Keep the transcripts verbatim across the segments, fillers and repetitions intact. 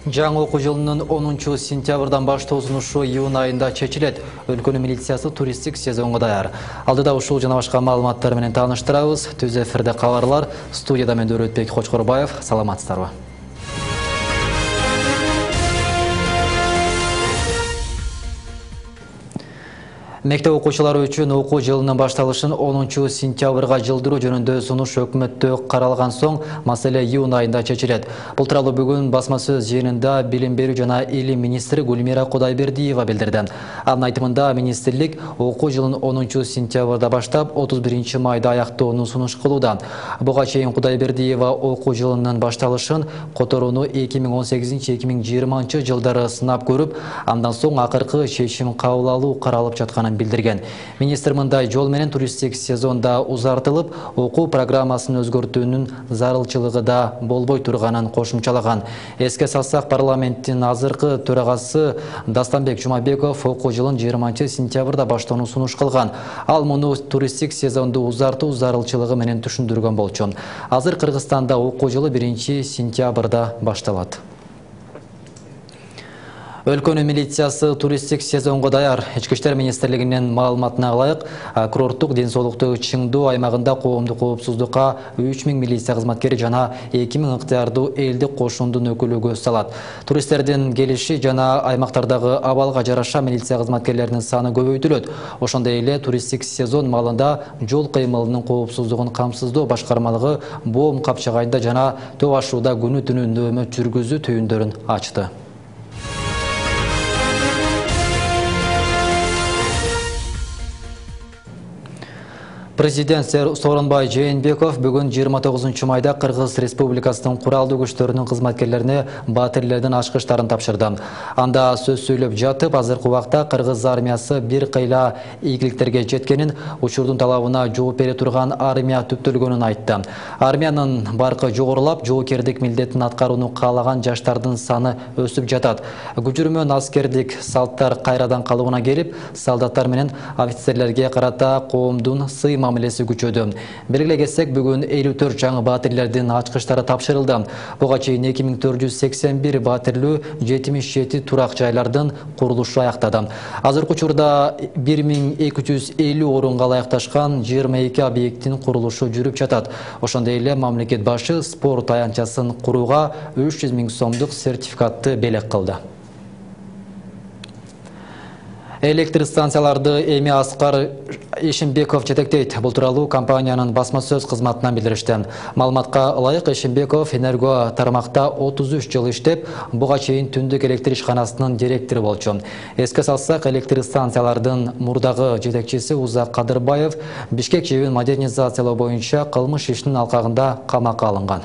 Жаңы окуу жылынын онунчу сентябрдан баштоосун ушу июнь айында чечилет. Өлкөнүн милициясы туристтик сезонго даяр. Алдыда ушул жана башка маалыматтар менен тааныштырабыз. Түз эфирде кабарлар. Студияда мен Дөрөтбек Кочкорбаев. Саламатсыздарбы? Мектеп окуучулары үчүн окуу жылынын башталышын онунчу сентябрга жылдыруу жөнүндө сунуш өкмөттө каралган соң маселе июнь айында чечилет. Бул тууралуу бүгүн басма сөз жыйынында билим берүү жана илим министри Гүлмира Кудайбердиева билдирди. Анын айтымында министрлик окуу жылын онунчу сентябрда баштап отуз биринчи майда аяктоону сунуш кылууда. Буга чейин Кудайбердиева окуу жылынын башталышын которууну эки миң он сегизинчи эки миң жыйырманчы жылдары сынап көрүп, андан соң акыркы чечим кабыл алуу каралып жатканын билдирген. Министр мындай жол менен туристтик сезонда узартылып, окуу программасын өзгөртүүнүн зарылчылыгы да болбой турганын кошумчалаган. Эске салсак, парламенттин азыркы төрагасы Дастанбек Жумабеков окуу жылын жыйырманчы сентябрда баштоону сунуш кылган. Ал муну туристтик сезонду узартуу зарылчылыгы менен түшүндүргөн болчу. Азыр Кыргызстанда окуу жылы биринчи сентябрда башталат. Өлкөнүн милициясы туристтик сезонго даяр. Ички иштер министрлигинин маалыматына ылайык, курорттук ден соолукту чыңдоо аймагында коомдук коопсуздукка үч миң милиция кызматкери жана эки миң ыктыярдуу элдик кошундун өкүлү көз салат. Туристтердин келиши жана аймактардагы абалга жараша милиция кызматкерлеринин саны көбөйтүлөт. Ошондой эле туристтик сезон маалында жол кыймылынын коопсуздугун камсыздоо башкармалыгы Боом капчагайында жана Төө Ашууда күнү түнү нөөмөт жүргүзүү түйүндөрүн ачты. Президент Сооронбай Жээнбеков бүгүн жыйырма тогузунчу майда Кыргыз Республикасынын куралдуу күчтөрүнүн кызматкерлерине баатирлердин ачкычтарын тапшырды. Анда сөз сүйлөп жатып, азыркы убакта Кыргыз армиясы бир кыйла ийгиликтерге жеткенин, учурдун талабына жооп бере турган армия түптөлгөнүн айтты. Армиянын баркы жогорулап, жоокердик милдетин аткарууну каалаган жаштардын саны өсүп жатат. Күчүрмөн аскердик салттар кайрадан калыбына келип, солдаттар менен офицерлерге карата коомдун сый мамилеси күчөдү. Белгилей кетсек, бүгүн элүү төрт жаңы баатирлердин ачкычтары тапшырылды. Буга чейин эки миң төрт жүз сексен бир баатирлүү жетимиш жети турак жайлардын курулушу аяктады. Азыркы учурда бир миң эки жүз элүү орунга ылайыкташкан жыйырма эки объекттин курулушу жүрүп жатат. Ошондой эле мамлекет башы спорт аянтчасын курууга үч жүз миң сомдук сертификатты белек кылды. Электр станцияларды эми Аскар Эшимбеков жетектейт. Бул тууралуу компаниянын басма сөз кызматынан билдиришти. Маалыматка ылайык, Эшимбеков Энерго тармакта отуз үч жыл иштеп, буга чейин түндүк электр ишканасынын директору болчу. Эске салсак, электр станциялардын мурдагы жетекчиси Узак Кадырбаев Бишкек жебин модернизациялоо боюнча кылмыш ишинин алкагында камакка алынган.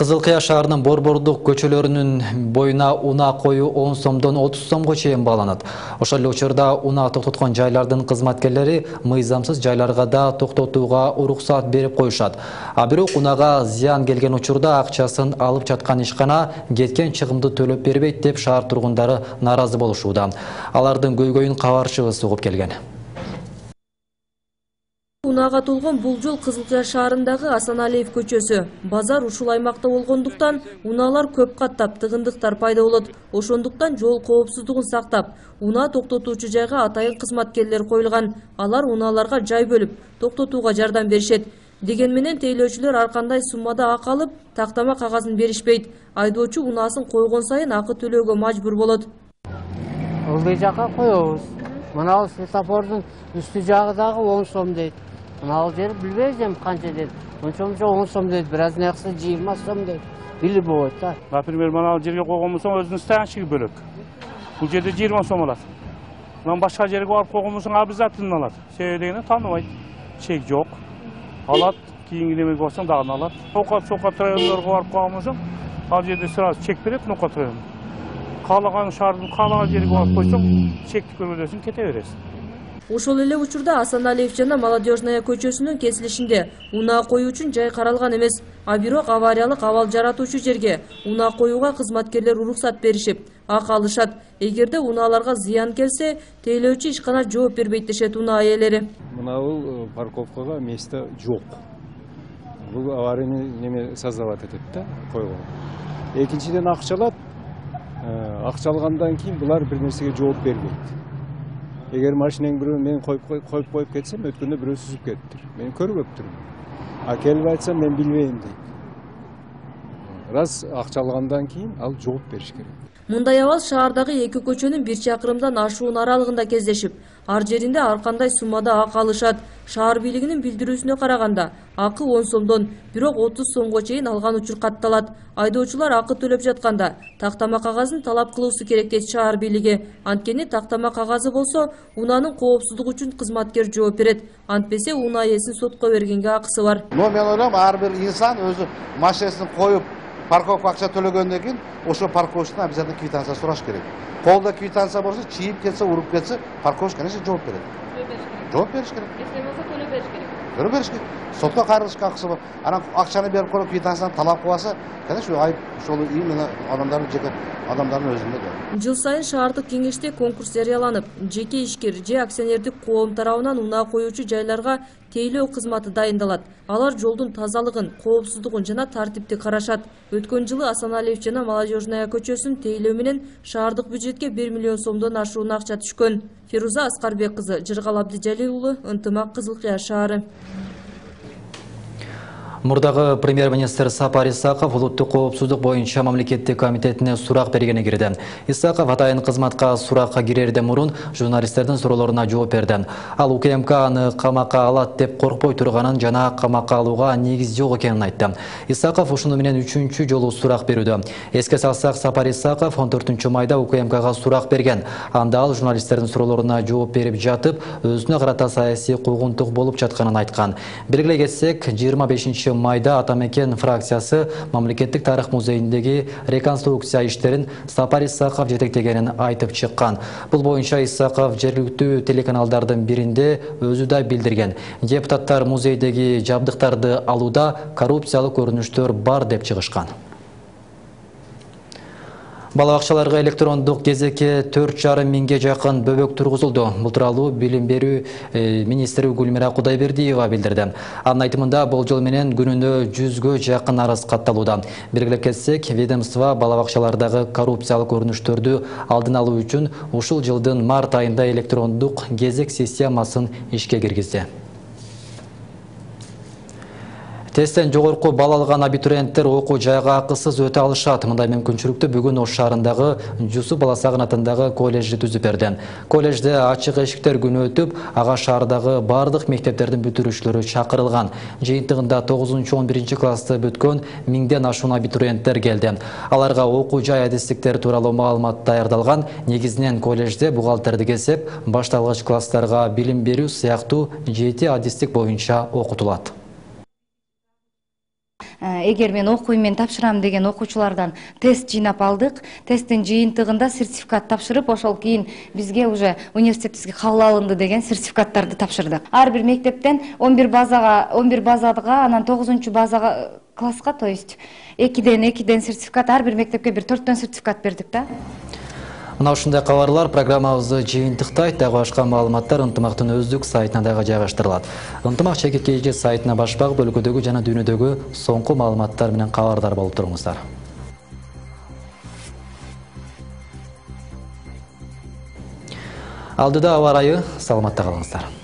Кызылкыя шаарынын борбордук көчөлөрүнүн боюна унаа коюу он сомдон отуз сомго чейин бааланат. Ошол эле учурда унаа токтоткон жайлардын кызматкерлери мыйзамсыз жайларга да токтотууга уруксат берип коюшат. А бирок унаага зыян келген учурда акчасын алып жаткан ишкана кеткен чыгымды төлөп бербейт деп шаар тургундары нааразы болушууда. Алардын көйгөйүн кабарчыбыз угуп келген. Унаага толгон бул жол Кызылкыя шаарындагы Асаналиев көчөсү. Базар ушул аймакта болгондуктан унаалар көп каттап тыгындыктар пайда болот. Ошондуктан жол коопсуздугун сактап, унаа токтотуучу жайга атайын кызматкерлер коюлган. Алар унааларга жай бөлүп, токтотууга жардам беришет. Деген менен тейлөөчүлөр ар кандай суммада акы алып, тактама кагазын беришпейт. Айдоочу унаасын койгон сайын акы төлөөгө мажбур болот. Ылдый жакка коебуз. Мына светофордун үстү жагы дагы он сом дейт. Ал жер билбейм канча дейт. Ошончо он сом дейт, бираз нексе жыйырма сом дейт. Билип болот да. Например, мына жерге койгон болсоң өзүнүн стоянчыгы бөлөк. Бул жерде жыйырма сом алат. Мына башка жерге барып койгон болсоң обязательно алат. Себеби дегенде тааныбайт. Чек жок. Алат, кийинки немеге барсаң дагы алат. Окат сокат райондорго барып койгон болсоң, ал жерде сразу чек берет, Нокат району. Каалаган шаардын каалаган жерге барып койсоң, чекти көрбөдөсүң, кете бересиң. Ошол эле учурда Асаналиев жана Молодежная көчөсүнүн кесилишинде унаа коюу үчүн жай каралган эмес. А бирок авариялык абал жаратуучу жерге унаа коюуга кызматкерлер уруксат беришип, акы алышат. Эгерде унааларга зыян келсе, тейлөөчү ишкана жооп бербейт дешет унаа ээлери. Мына бул парковкага место жок. Бул аварийный неме создавать этет да, койгон. Экинчиден акча алат. Акча алгандан кийин булар бир нерсеге жооп бербейт. Эгер машинең бирөө мен коюп коюп коюп кетсем, өткөндө бирөө сүзүп кетиптир. Мен көрбөптүрмүн. А келип айтсам мен билбейм дейт. Раз акча алгандан кийин ал жооп бериш керек. Мындай абал шаардагы эки көчөнүн бир чакырымдан ашуун аралыгында кездешип, ар жеринде ар кандай суммада акы алышат. Шаар бийлигинин билдирүүсүнө караганда, акы он сомдон, бирок отуз сомго чейин алган учур катталат. Айдоочулар акы төлөп жатканда тактама кагазын талап кылуусу керек дейт шаар бийлиги. Анткени тактама кагазы болсо, унаанын коопсуздугу үчүн кызматкер жооп берет. Антпесе унаа ээсин сотко бергенге акысы бар. Но мен ойлойм, ар бир инсан өзү машинасын коюп парковка акча төлөгөндөн кийин ошо парковщиктен обязательно квитанция сураш керек. Колдо квитанция болсо, чийип кетсе, уруп кетсе, парковщик конечно жооп берет. Жооп бериш керек. Если болсо төлөп бериш керек. Төлөп бериш керек. Сотко кайрылышка акысы бар. Анан акчаны берип коюп квитанцияны талап кылбаса, конечно айып ошол именно адамдардын жеке адамдардын өзүндө да. Жыл сайын шаардык кеңеште конкурс жарыяланып, жеке ишкер же акционердик коом тарабынан унаа коюучу жайларга тейлөө кызматы дайындалат. Алар жолдун тазалыгын, коопсуздугун жана тартипти карашат. Өткөн жылы Асаналиев жана Молодежная көчөсүн тейлөө менен шаардык бюджетке бир миллион сомдон ашуун акча түшкөн. Фируза Аскарбек кызы, Жыргал Абдыжалил уулу, Ынтымак, Кызыл Кыя шаары. Мурдагы премьер-министр Сапар Исаков улуттук коопсуздук боюнча мамлекеттик комитетине сурак бергени кирди. Исаков атайын кызматка суракка кирерден мурун журналисттердин суроолоруна жооп берди. Ал УКМК аны камакка алат деп коркпой турганын жана камакка алууга негиз жок экенин айтты. Исаков ушуну менен үчүнчү жолу сурак берүүдө. Эске салсак, Сапар Исаков он төртүнчү майда УКМКга сурак берген. Анда ал журналисттердин суроолоруна жооп берип жатып, өзүнө карата саясий куугунтук болуп жатканын айткан. Белгилей кетсек, жыйырма бешинчи майда Атамекен фракциясы мамлекеттик тарых музейиндеги реконструкция иштерин Сапар Исаков жетектегенин айтып чыккан. Бул боюнча Исаков жергиликтүү телеканалдардын биринде өзү да билдирген. Депутаттар музейдеги жабдыктарды алууда коррупциялык көрүнүштөр бар деп чыгышкан. Бала бакчаларга электрондук кезекке төрт жарым миңге жакын бөбөк тургузулду. Бул тууралуу билим берүү министри Гүлмира Кудайбердиева билдирди. Анын айтымында болжол менен күнүнө жүзгө жакын арыз катталууда. Белгилеп кетсек, ведомство бала бакчалардагы коррупциялык көрүнүштөрдү алдын алуу үчүн ушул жылдын март айында электрондук кезек системасын ишке киргизди. Тесттен жогорку балл алган абитуриенттер окуу жайга акысыз өтө алышат. Мындай мүмкүнчүлүктү бүгүн Ош шаарындагы Жусуп Баласагын атындагы колледжди түзүп берди. Колледжде ачык эшиктер күнү өтүп, ага шаардагы бардык мектептердин бүтүрүүчүлөрү чакырылган. Жыйынтыгында тогузунчу он биринчи классты бүткөн миңден ашуун абитуриенттер келди. Аларга окуу жай адистиктер тууралуу маалымат даярдалган. Негизинен колледжде бухгалтердик эсеп, башталгыч класстарга билим берүү сыяктуу жети адистик боюнча окутулат. Эгер мен окуйм, мен тапшырам деген окуучулардан тест жыйнап алдык. Тесттин жыйынтыгында сертификат тапшырып, ошол кийин бизге уже университетибизге кабыл алынды деген сертификаттарды тапшырдык. Ар бир мектептен он бир базага, он бир базага, анан тогузунчу базага класска, то есть экиден экиден сертификат, ар бир мектепке бир төрттөн сертификат бердик да. Мына ушундай кабарлар программабызды жыйынтыктайт. Дагы башка маалыматтар Ынтымактын өздүк сайтына дагы жайгаштырылат. Ынтымак чекит сайтына баш багып, өлкөдөгү жана дүйнөдөгү соңку маалыматтар менен кабардар болуп туруңуздар. Алдыда аба ырайы, саламатта калыңыздар.